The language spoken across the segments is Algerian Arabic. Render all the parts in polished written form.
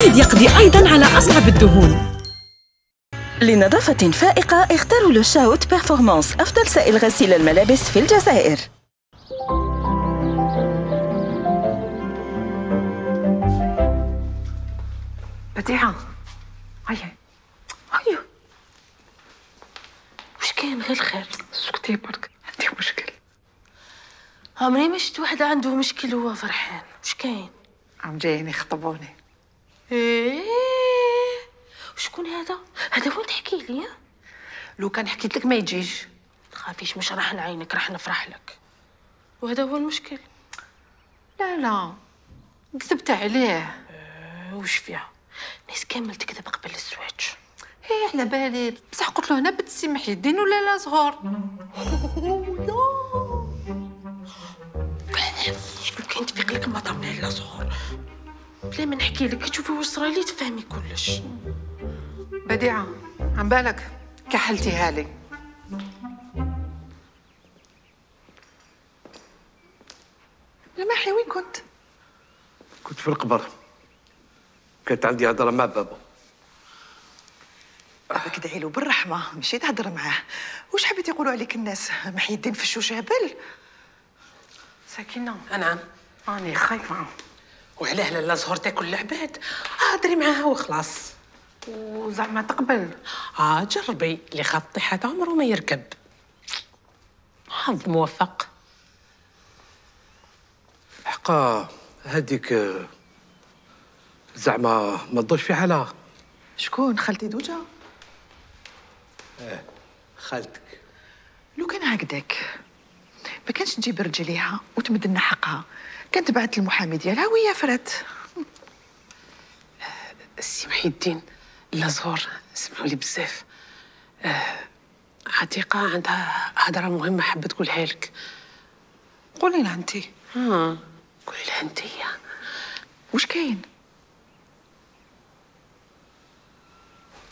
الجديد يقضي أيضاً على أصعب الدهون. لنظافة فائقة اختاروا لو شاوت بيرفورمانس، أفضل سائل غسيل الملابس في الجزائر. بديعة هيا هيا، وش كاين؟ غير الخير. سكتي برك، عندي مشكل. عمري ما شفت واحد عنده مشكل وهو فرحان. وش كاين؟ عم جايين يخطبوني. ايه وشكون هذا؟ هذا وين تحكي لي؟ لو كان حكيت لك ما يجيش. تخافيش، مش راح نعينك، راح نفرح لك. وهذا هو المشكل. لا كذبت عليه. وش فيها؟ ناس كامل تكذب قبل الزواج. هي على بالي، بصح قلت له هنا بنت السي محي الدين ولا لا زهور. شكون كاين تفيق لك ما ضمنها لا زهور؟ بلا ما نحكي لك تشوفي واش صرالي تفهمي كلش. بديعة عن بالك كحلتيها لي. يا محي وين كنت؟ كنت في القبر، كانت عندي هضره مع بابا. بدك تدعي له بالرحمه، مشيت تهضر معاه. واش حبيت يقولوا عليك الناس؟ محي الدين فشوش هبل. سكينة نعم، راني خايفة. وعلاه لالا زهور تاكل العباد؟ هضري معاها وخلاص، وزعما تقبل. جربي، اللي خاف طيحة عمره ما يركب. حظ موفق. حقا هذيك زعما ما تضوش في حالها. شكون؟ خالتي دوجا؟ خالتك. لو كان هكذاك ما كانش تجيب رجليها وتمد لنا حقها، كانت بعثت المحامي ديالها وهي فرات. السي محي الدين، لا زهور سمحوا لي بزاف. عتيقة عندها هضرة مهمة حابة تقولها لك. قولي لها انت. قولي لها انت. واش كاين؟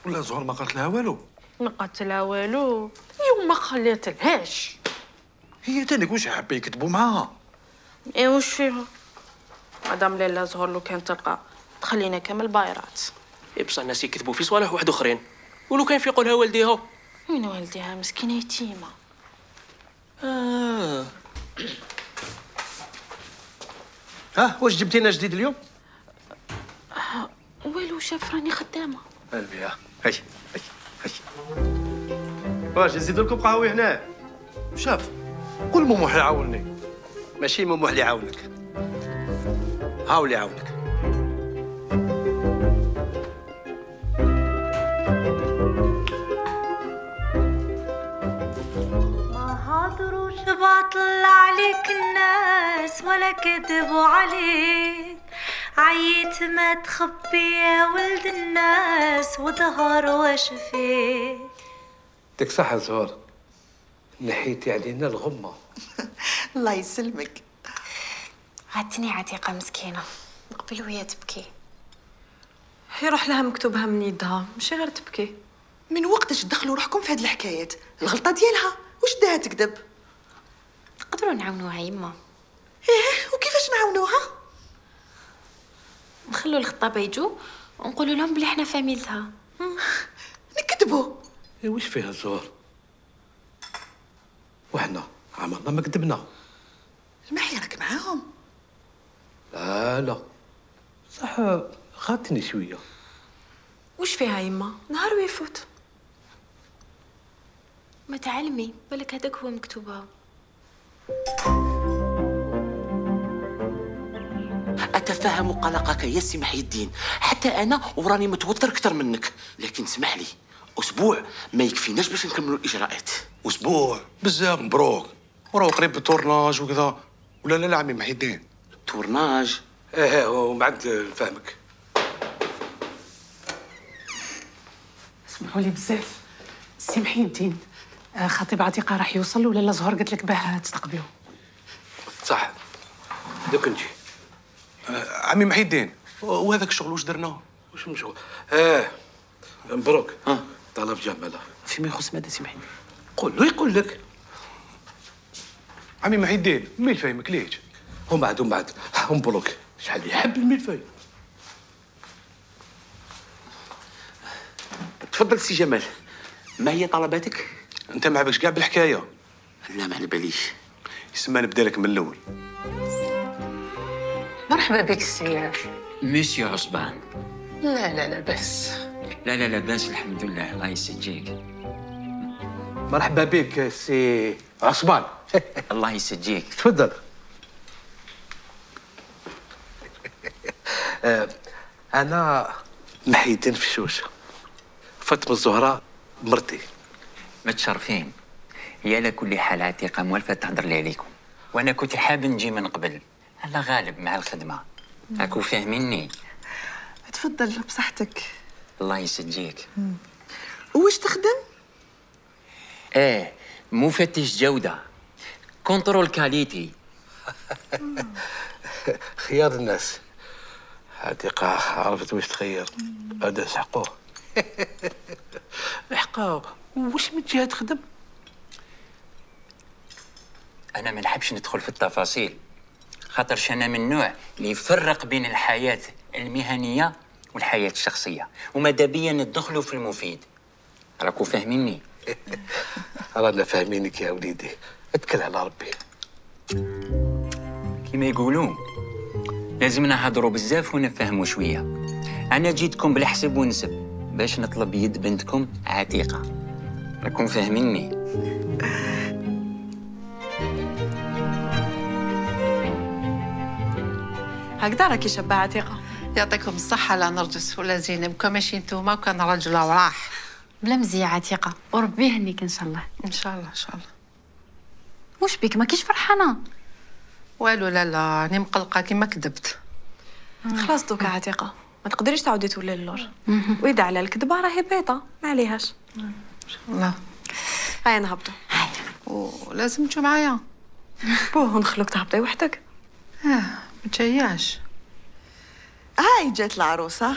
ولا زهور ما قالت لها والو؟ ما قالت لها والو. يوم ما خليت لهاش. هي تانيك واش حابه يكتبوا معاها؟ ايه وش فيها؟ مدام لالا زهور لو كان تلقى تخلينا كامل بايرات. إيه بصح الناس يكذبوا في صوالح واحد اخرين، ولو كان في يقولها والديها. وين والديها؟ مسكينه يتيمه. ها واش جبتي لنا جديد اليوم؟ والو شاف راني خدامه. قلبي ها هاي هاي. واش نزيد لكم قهوه هنا؟ شاف قول مموح يعاونني. ماشي مموح اللي يعاونك، هاو اللي يعاونك. ما هضروش باطل عليك الناس ولا كذبوا عليك، عييت ما تخبي يا ولد الناس وظهر واش فيك. ديك صح زهور، نحيتي علينا الغمه. الله يسلمك. عاتني عتيقة مسكينة قبل وهي تبكي. هي روح لها مكتوبها من يدها، ماشي غير تبكي. من وقتاش تدخلوا روحكم في هاد الحكايات؟ الغلطه ديالها، واش داها تكذب؟ نقدروا نعاونوها يما. ايه وكيفاش نعاونوها؟ نخلوا الخطابة يجوا ونقولوا لهم بلي حنا فاميلتها. نكذبوا. إيه واش فيها زهور؟ وحنا عمرنا ما كذبنا. المحي راك معاهم. لا صح غاتني شويه. وش فيها يما؟ نهار ويفوت. ما تعلمي بالك هذاك هو مكتوبها. اتفهم قلقك يا سي محي الدين، حتى انا وراني متوتر اكثر منك، لكن اسمح لي، اسبوع ما يكفيناش باش نكملوا الاجراءات. اسبوع بزاف. مبروك، وراه قريب بالتورناج وكذا. ولا لا عمي محي الدين؟ التورناج؟ ايه ومن بعد نفهمك. اسمحوا لي بزاف، السي محي الدين خطيب عتيقة راح يوصل ولا لا زهور قالت لك باه تستقبلوه؟ صح دوك نجي. عمي محي الدين، وهذاك الشغل واش درناه؟ واش مشغول؟ مبروك. طلب جماله. فيما يخص ماذا سي محي؟ قول له يقول لك. عمي محي الدين مين فاهمك ليش؟ ومن بعد مبروك. شحال يحب الملفاي. تفضل سي جمال، ما هي طلباتك؟ انت ما عبكش كاع بالحكايه. لا ما على باليش. يسمى نبدا لك من الاول. مرحبا بك السي مسيو عصبان. لا لا لا بس. لا لاباس الحمد لله، الله يسجيك. مرحبا بك سي عصبان. الله يسجيك. تفضل. انا محي الدين فشوش، فاطمه الزهراء مرتي. متشرفين. هي على كل حال عتيقه موالفه تهضر لي عليكم، وانا كنت حاب نجي من قبل، الله غالب مع الخدمه. راكو فاهميني؟ تفضل بصحتك. الله يسجيك. واش تخدم؟ مفتش جوده، كنترول كاليتي. خيار الناس. عتيقة عرفت واش تخير، هذا سحقوه. حقا واش من جهه تخدم؟ انا ما نحبش ندخل في التفاصيل، خاطرش انا من النوع اللي يفرق بين الحياه المهنيه والحياه الشخصيه، وماذا بيا ندخلوا في المفيد. راكو فاهميني؟ رانا فاهمينك يا وليدي، اتكل على ربي. كيما يقولوا لازم نهضروا بزاف ونفهموا شويه. انا جيتكم بالحسب ونسب باش نطلب يد بنتكم عتيقه، راكم فاهميني؟ هكذا راكي شابه عتيقه. يعطيكم الصحة لا نرجس ولا زينب، كون ماشي نتوما وكان رجل وراح. بلا مزية عتيقه، وربي يهنيك ان شاء الله. ان شاء الله ان شاء الله. واش بيك ما كيش فرحانه؟ والو لا راني مقلقة كيما كذبت. خلاص دوكا عتيقه، ما تقدريش تعاودي تولي اللور. واذا على الكذبه راهي بيضه، ما عليهاش. ان شاء الله. هيا نهبطوا. ولازم تجوا معايا. بوه ندخلوك تهبطي وحدك. ما تجياش. هاي جات العروسه.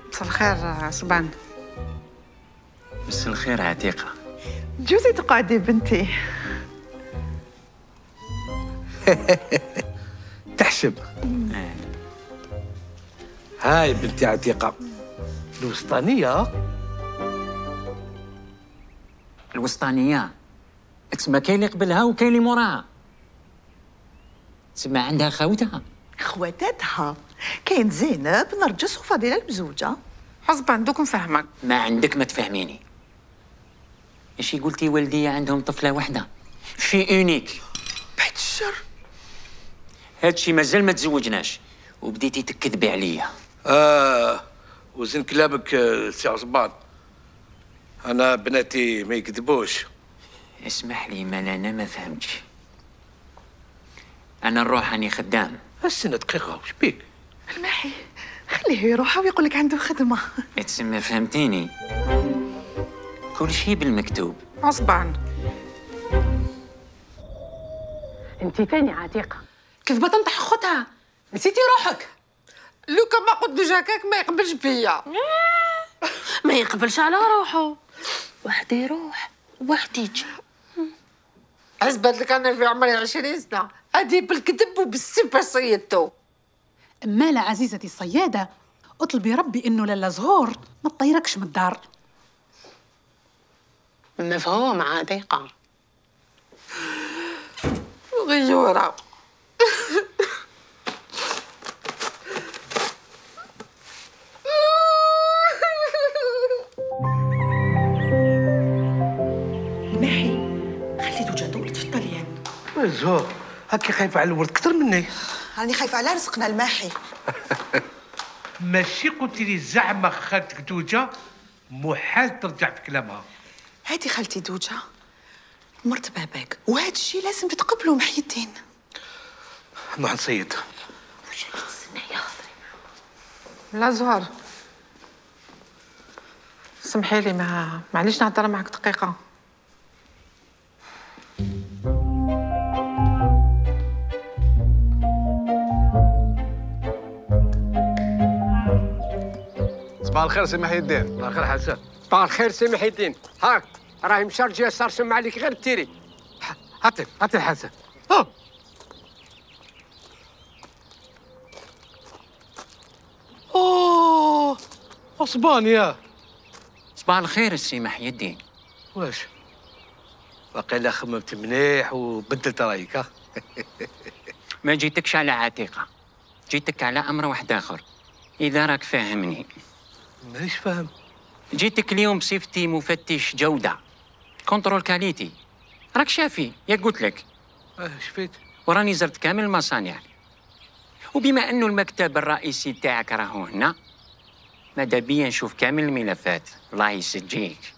مساء الخير صبان. مساء الخير عتيقه. جوزي تقعدي بنتي. تحشم. هاي بنتي عتيقة الوسطانية. الوسطانيه تسمى كاين اللي قبلها وكاين اللي موراها. تسمى عندها خاوتها. خواتاتها كاين زينب، نرجس وفضيله المزوجه. حسب دوك نفهمك. ما عندك ما تفهميني. ايش قلتي والدي عندهم طفله واحده في اونيك؟ بعد الشر. هادشي مازال ما تزوجناش وبديتي تكذبي عليا. وزن كلامك سي عصبان، انا بناتي ما يكذبوش. اسمح لي مال انا ما فهمتش. انا نروح راني خدام. استنى دقيقة، وش بيك؟ الماحي خليه يروح ويقول لك عنده خدمه. تسمى فهمتيني؟ كل شيء بالمكتوب. عصبان. انت تاني عتيقه كذبة تنطح خدها، نسيتي روحك. لوكا ما قلت جاكاك ما يقبلش بيا. ما يقبلش على روحه، واحد يروح واحد يجي. اثبت لك انا في عمري 20 سنه ادي بالكذب وبالسب صيدتو. مالا عزيزتي الصيادة، اطلبي ربي انه لالا زهور ما تطيركش من الدار. مفهوم عتيقة. غيورة. الماحي خلي دوجا دولت في الطليان. زهور هاكي خايفة على الورد أكثر مني. راني خايفه على رزقنا الماحي. ماشي قلت لي زعما خالتك دوجا محال ترجع في كلامها. هاتي خالتي دوجا مرت باباك، وهذا الشيء لازم تتقبلوا محي الدين. نروح نصيد. لا زهر سمحي لي، معليش نهضر معك دقيقة. صباح الخير سي محي الدين. صباح الخير حسن. صباح الخير سي محي الدين. هاك راهي مشارجيه صار سمع عليك غير التيري. هاتي الحسن. اسبانيا. صباح الخير السي محي الدين. واش واقيلا خممت مليح وبدلت رايك؟ ها؟ ما جيتكش على عتيقة، جيتك على أمر واحد آخر إذا راك فاهمني. مانيش فاهم. جيتك اليوم بصفتي مفتش جودة، كنترول كاليتي. راك شافي يا قلت لك. شفيت. وراني زرت كامل المصانع، وبما أنه المكتب الرئيسي تاعك راهو هنا، ماذا بيا نشوف كامل الملفات. الله يسجيك.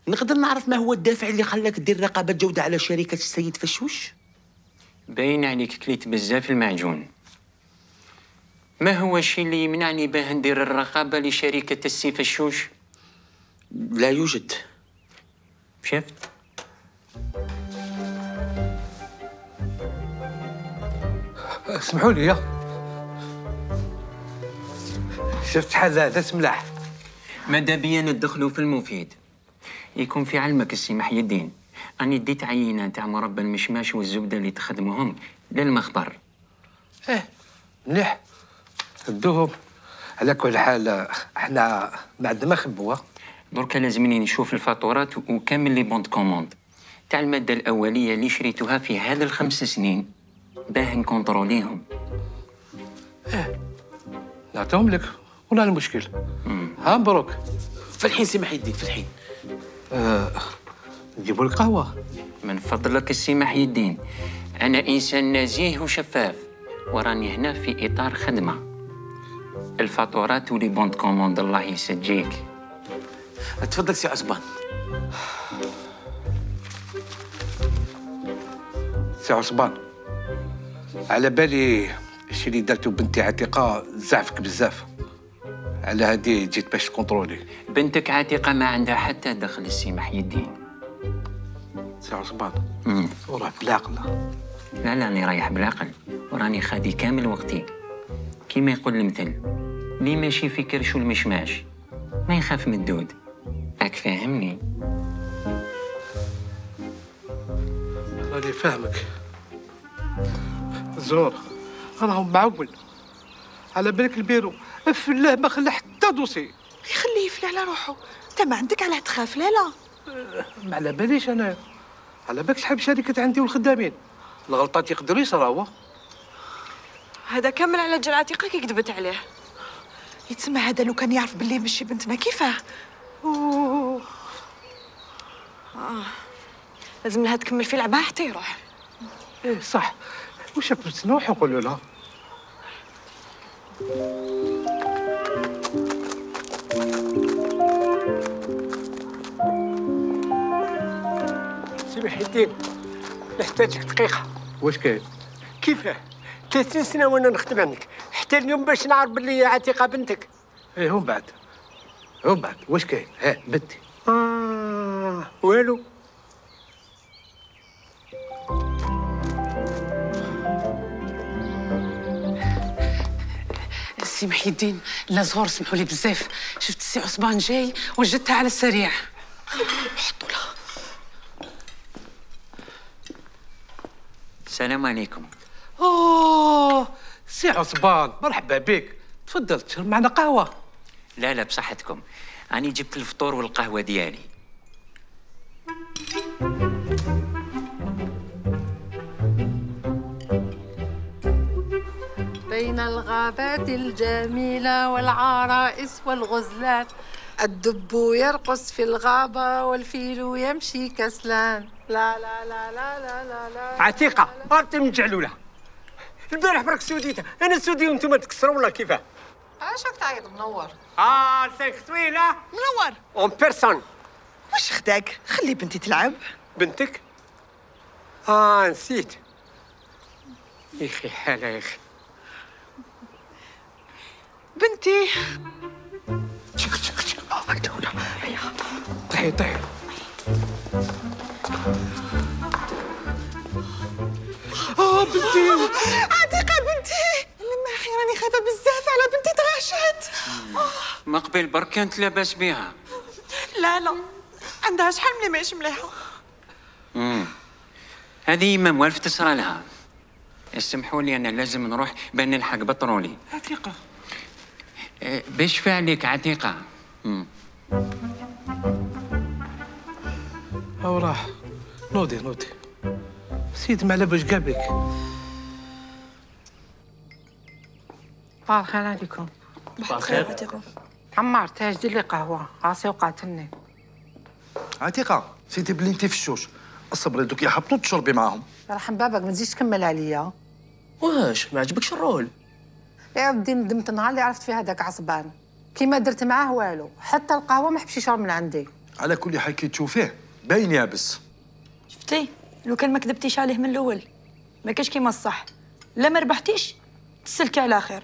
نقدر نعرف ما هو الدافع اللي خلاك دير رقابة جودة على شركة السيد فشوش؟ باين عليك كليت بزاف المعجون. ما هو الشيء اللي يمنعني باه ندير الرقابة لشركة السي فشوش؟ لا يوجد. شفت؟ اسمحوا لي. شفت حال هذا سملاح. ماذا بيا ندخلوا في المفيد. يكون في علمك السي محي الدين، أني ديت عينة تاع مربى المشماش والزبدة اللي تخدموهم للمخبر. مليح ردوهم. على كل حال احنا ما عندنا ما نخبوها. دركا لازمني نشوف الفاتورات وكامل لي بوند كوموند تاع المادة الأولية اللي شريتوها في هذا ال5 سنين باه نكونتروليهم. نعطيهم لك ولا المشكل. ها مبروك. في الحين سي محي الدين في الحين. نجيبوا لك قهوة. من فضلك السي محي الدين، أنا إنسان نزيه وشفاف وراني هنا في إطار خدمة. الفاتورات ولي بوند كوموند الله يسجيك. تفضل سي عصبان. سي عصبان، على بالي الشيء اللي درتو بنتي عتيقة زعفك بزاف، على هادي جيت باش تكونترولي. بنتك عتيقة ما عندها حتى دخل السي محي الدين. سي عصبان وراه بالعقل. لا راني رايح بالعقل وراني خادي كامل وقتي. كيما يقول المثل، لي ماشي في كرشو المشماش ما يخاف من الدود. راك فاهمني؟ راني فاهمك زور. راهم معول على بالك البيرو فلاه ما خلى حتى دوسي. يخليه يفلى على روحه. انت ما عندك علاه تخاف. لا ما على باليش انا. على بالك شحال شركة عندي والخدامين. الغلطات يقدروا يصراوه. هذا كامل على جال عتيقة كي كذبت عليه. يتسمى هذا لو كان يعرف باللي ماشي بنتنا كيفاه. لازم لها تكمل في لعبها حتى يروح. ايه صح. وش بنروح نقولوا لها؟ سي محي الدين نحتاجك دقيقة. واش كاين؟ كيفاه؟ 30 سنة وانا نخدم عندك، حتى اليوم باش نعرف باللي عتيقة بنتك. ايه ومن بعد واش كاين؟ بنتي. والو. سي محي الدين، لا زهور سمحوا لي بزاف، شفت السي عصبان جاي وجدتها على السريع. حطوا لها. السلام عليكم. سي عصبان مرحبا بك. تفضل تشرب معنا قهوة. لا بصحتكم، أنا جبت الفطور والقهوة ديالي. بين الغابات الجميلة والعرائس والغزلان الدب يرقص في الغابة والفيل يمشي كسلان. لا لا لا لا لا لا لا. عتيقة هربتي من جعلولة. البارح برك سوديتها، أنا سودي وأنتم تكسروا ولا كيفاه؟ اش راك تعيط منور؟ لسانك طويلة. منور. اون بيرسون. واش خداك؟ خلي بنتي تلعب. بنتك؟ نسيت. يا أخي حالة يا أخي. بنتي. طيحي بنتي. عتيقة بنتي. لما اخي راني خايفة بزاف على بنتي تغاشات. ما قبل برك كانت لاباس بها. لا عندها شحال ملي ماهيش مليحة. هذه ما موالف تصرى لها. اسمحوا لي أنا لازم نروح بان نلحق بطرولي. عتيقة باش فعلك عتيقة. هاو راح. نوضي سيد ما على باش قابلك. صباح الخير عليكم. صباح الخير عتيقة. عمار تاج دير لي قهوه راسي وقعتني. عتيقة سيتي بلي انت في الشوش، الصبري دوك يحبطوا تشربي معاهم. رحم بابك ما تزيدش تكمل عليا. واش ما عجبكش الرول؟ يا ودي ندمت النهار اللي عرفت فيه هذاك عصبان، كيما درت معاه والو، حتى القهوه ما حبش يشرب من عندي. على كل حال كي تشوفيه باين يابس. شفتي لو كان ما كذبتيش عليه من الاول ما كاش كيما الصح، لا ما ربحتيش تسلكي على خير.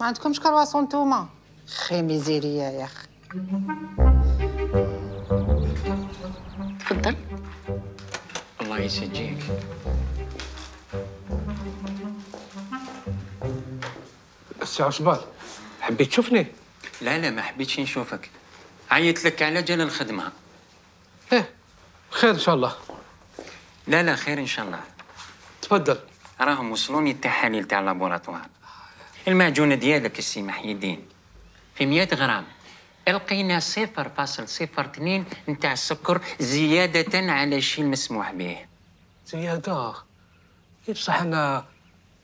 ما عندكمش كرواسون نتوما؟ خي ميزيريا يا اخي. تفضل. الله يسجيك. السي عصبان حبيت تشوفني؟ لا ما حبيتش نشوفك، عيطت لك على جال الخدمة. خير ان شاء الله. لا خير ان شاء الله. تفضل. راهم وصلوني التحاليل تاع اللابوراتوار. المعجونة ديالك السي محي الدين في 100 غرام لقينا 0.02 نتاع السكر زيادة على الشيء المسموح به. زيادة؟ بصح انا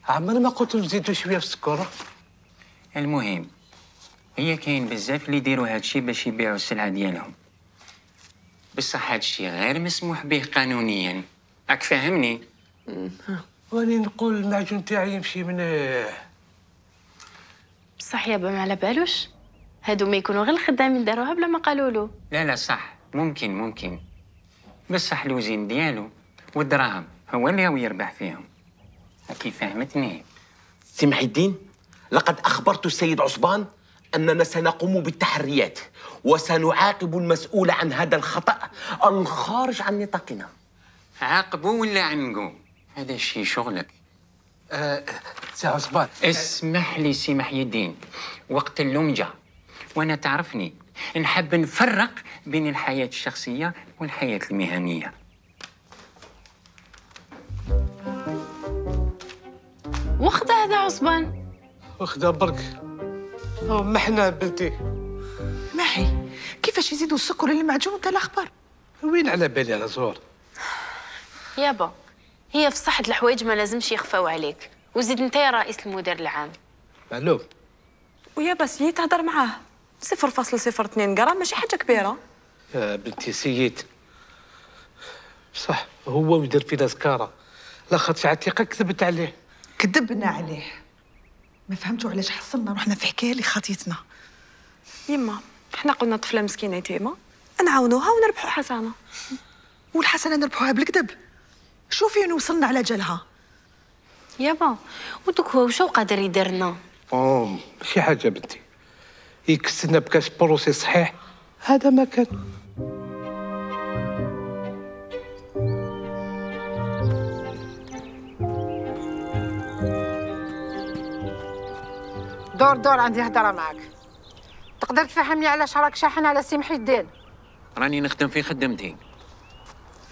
عمري ما قلت نزيدو شويه في السكر. المهم هي كاين بزاف اللي يديروا هذا الشيء باش يبيعوا السلعة ديالهم، بصح هذا الشيء غير مسموح به قانونيا، راك فاهمني؟ واني نقول المعجون تاعي يمشي مليح. بصح يابا ما على بالوش هادو ما يكونوا غير الخدامين داروها بلا ما قالوا له. لا صح، ممكن بصح الوزين ديالو والدراهم هو اللي هو يربح فيهم. كي فهمتني؟ سي محي الدين، لقد أخبرت السيد عصبان أننا سنقوم بالتحريات وسنعاقب المسؤول عن هذا الخطأ الخارج عن نطاقنا. عاقبوا ولا عنقوا؟ هذا الشيء شغلك. سي عصبان اسمح لي سي محي الدين، وقت اللوم جا وانا تعرفني نحب نفرق بين الحياة الشخصية والحياة المهنية. وخذ هذا عصبان. وخذها برك. محنا بنتي. محي كيفاش يزيدوا السكر للمعجون وانت الاخبار؟ وين على بالي على زهور؟ يابا هي في صحة الحوايج ما لازمش يخفاو عليك، وزيد انت يا رئيس المدير العام. معلوم. ويا بس لي تهضر معاه 0.02 غرام ماشي حاجة كبيرة. يا بنتي سيد صح هو يدير فينا سكارة، لا خاطش عتيقة كذبت عليه. كذبنا عليه، ما فهمتوا علاش حصلنا روحنا في حكايه اللي خاطيتنا. يما حنا قلنا طفله مسكينه يتيمه نعاونوها ونربحوا حسنه، والحسنه نربحوها بالكذب. شوفي وين وصلنا على جالها. يابا ودوك هو وشو قادر يدير لنا؟ ماشي حاجه بنتي، يكسلنا بكاش بروسي صحيح هذا ما كان. دور عندي هضره معك. تقدر تفهمني علاش راك شاحن على سي محي الدين؟ راني نخدم في خدمتي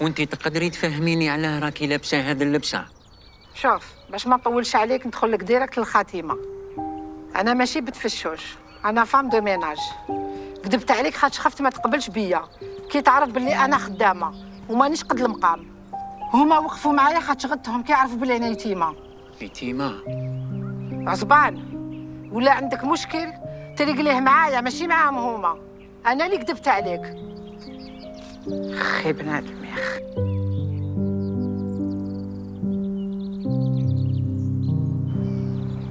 وانتي تقدري تفهميني علاه راكي لابسه هذا اللبسه. شوف باش ما نطولش عليك ندخل لك ديريكت للخاتمه. انا ماشي بتفشوش، انا فام دو ميناج. كذبت عليك خاطش خفت ما تقبلش بيا كي تعرف باللي انا خدامه ومانيش قد المقام. هما وقفوا معايا خاطش غدتهم كيعرفوا باللي انا يتيمه. يتيمه؟ عصبان ولا عندك مشكل تريق ليه معايا ماشي معاهم هما. انا اللي كذبت عليك. خي بنادم يا اخي.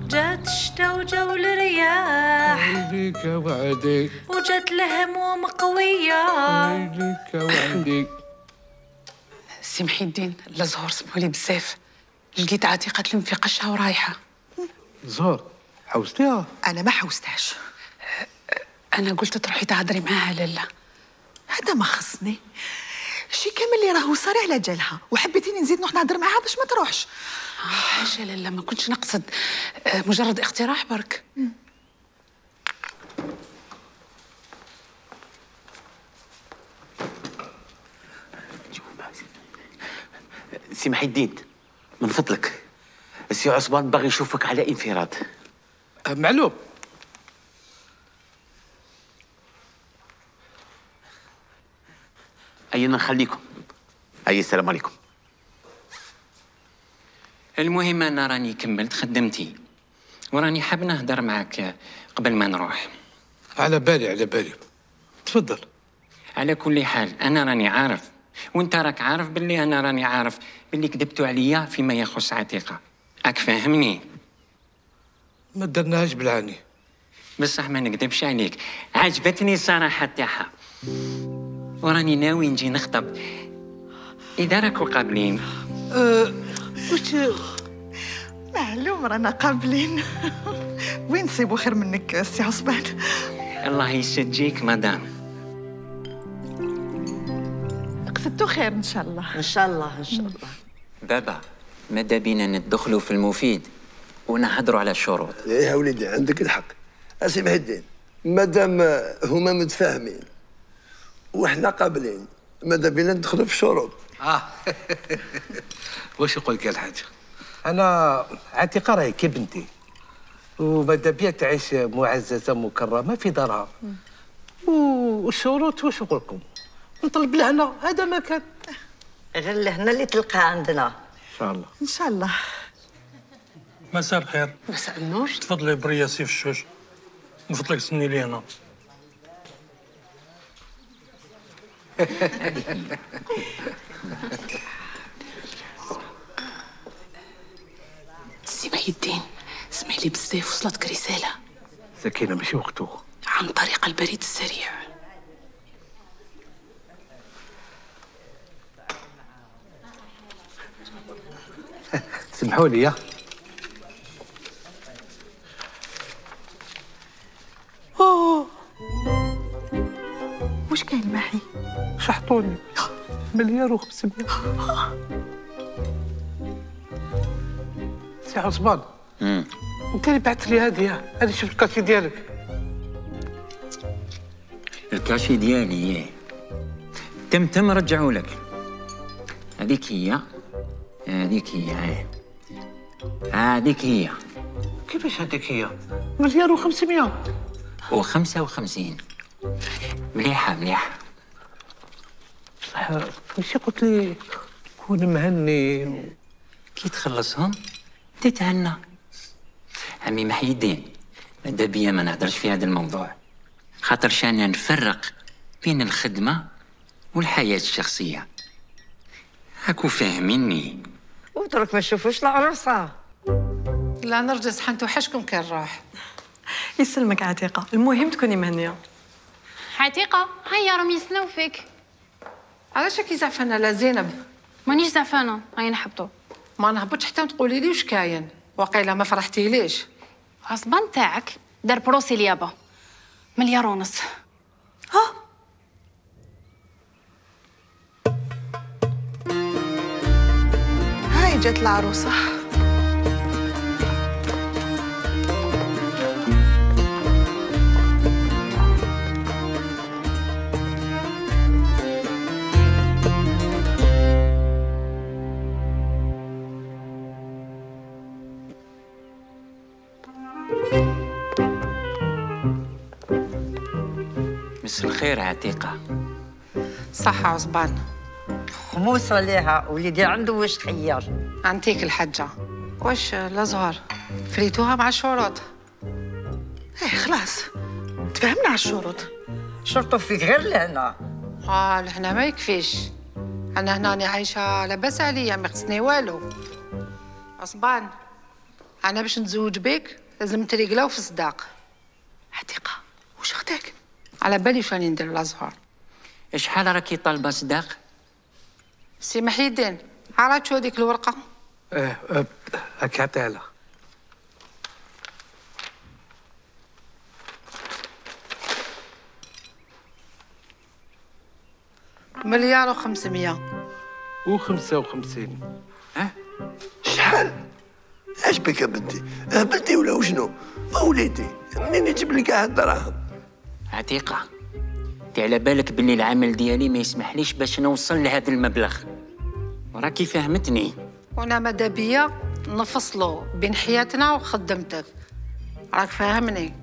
جات الشتا وجاو الرياح ويليك وعديك وجات الهموم قوية ويليك وعديك. سي محي الدين لا زهور سمحولي بزاف، لقيت عتيقة تلم في قشها ورايحة. زهور حوستيها؟ أنا ما حوستهاش، أنا قلت تروحي تهضري معاها لالا. هذا ما خصني، شي كامل اللي راهو صاري على جالها وحبيتيني نزيد نروح نهضر معاها باش ما تروحش. حاشا لالا ما كنتش نقصد، مجرد اقتراح برك. سي محي الدين من فضلك، السي عصبان باغي يشوفك على انفراد. معلوم، خلينا نخليكم. أي السلام عليكم. المهم انا راني كملت خدمتي وراني حاب نهضر معك قبل ما نروح. على بالي تفضل. على كل حال انا راني عارف وانت راك عارف باللي انا راني عارف باللي كذبتوا عليا فيما يخص عتيقة. راك فاهمني؟ ما درناهاش بالعاني. بصح ما نكذبش عليك، عجبتني الصراحة تاعها وراني ناوي نجي نخطب اذا راكو قابلين. واش معلوم رانا قابلين. وين نصيبوا خير منك سي عصبان؟ الله يسجيك مدام. قصدتو خير ان شاء الله. ان شاء الله. بابا ماذا بينا ندخلوا في المفيد ونهضروا على الشروط. ايه يا وليدي عندك الحق. اسي محي الدين، مادام هما متفاهمين وحنا قابلين ماذا بينا ندخلوا في الشروط. واش نقول لك الحاج، انا عتيقة راهي كي بنتي وماذا بيا تعيش معززه مكرمه في دارها. والشروط واش نقول لكم، نطلب لهنا هذا ما كان. غير لهنا اللي تلقاه عندنا ان شاء الله. ان شاء الله. مساء الخير. مساء النور. تفضلي بريا سيف الشوش، من فضلك سني لي هنا. سي محي الدين، اسمح لي بزاف، وصلتك رسالة سكينة ماشي وقته. عن طريق البريد السريع. سمحوا لي. واش كاين محي؟ شحطوني 1,500,000. سي عصبان انت اللي بعثت لي هذه شفت الكاشي ديالك. الكاشي ديالي تم رجعوا لك. هذيك هي هذيك هي. كيفاش هذيك هي 1,500,000 و55؟ مليحة. ماشي قلت لي كون مهني كي تخلصهم تتهنى. عمي محي الدين ماذا بيا ما نهضرش في هذا الموضوع، خاطر شانا نفرق بين الخدمة والحياة الشخصية. هاكو فاهميني؟ ودرك ما تشوفوش العروسة. لا نرجس حنتو حشكم كان راح. يسلمك عتيقة، المهم تكوني مهنية. عتيقة هيا راهم يسناو فيك. علاش كي زعفانة لا زينب؟ مانيش زعفانة، هيا نحبطو. ما نهبطش حتى تقولي لي واش كاين، وقيلا ما فرحتيليش. عصبان تاعك دار بروسي اليابا 1,5 مليار. هاي جات العروسة. مسا الخير عتيقة. صح عصبان. خموس عليها وليدي عنده واش خير. عنتيك الحجة. واش الأزهر فريتوها مع الشروط؟ خلاص تفهمنا على الشروط. شرطوا فيك غير لهنا. لهنا ما يكفيش. أنا هنا عايشة لاباس عليا، ما خصني والو. عصبان أنا باش نتزوج بك لازم تريقلاو في الصداق. عتيقة واش اختك؟ على بالي واش راني ندير الأزهر. شحال راكي طالبة صداق؟ سي محي الدين عرفت شو هذيك الورقة؟ هاك عطيها لها. مليار و500 و55. شحال؟ اش بك يا بنتي؟ هبلتي ولا وشنو؟ وليدي منين يجيب لك هاد الدراهم؟ عتيقة انت على بالك بلي العمل ديالي ما يسمحليش باش نوصل لهذا المبلغ، وراكي فهمتني. وانا ماذا بيا نفصلوا بين حياتنا وخدمتك، راك فاهمني؟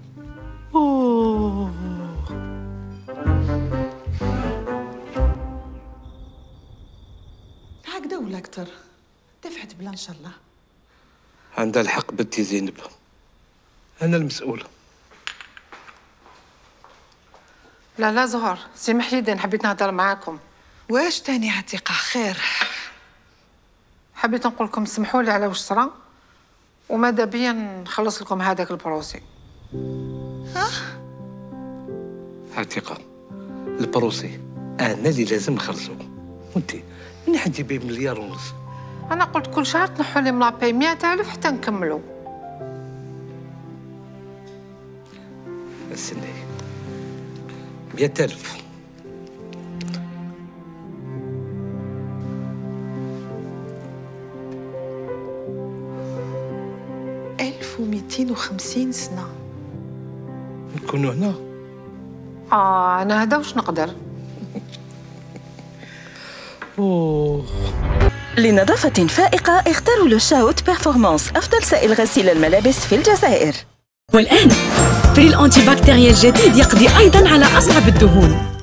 دكتور دفعت بلا ان شاء الله. عندها الحق بنتي زينب، انا المسؤول. لا زهر، سي محيدين حبيت نهضر معاكم. واش تاني عتيقة؟ خير. حبيت نقول لكم سمحوا لي على واش صرا، وماذا بيا نخلص لكم هذاك البروسي. عتيقة البروسي انا اللي لازم نخلصو، وانت من حد يبيع 1.5 مليار؟ انا قلت كل شهر تنحوا لي من لاباي 100,000 حتى نكملوا. استني 100,000 1250 سنة نكونوا هنا. انا هذا واش نقدر. لنظافة فائقة اختاروا لو شاوت بيرفورمانس أفضل سائل غسيل الملابس في الجزائر. والآن فريل أنتي بكتيريا الجديد يقضي أيضا على أصعب الدهون.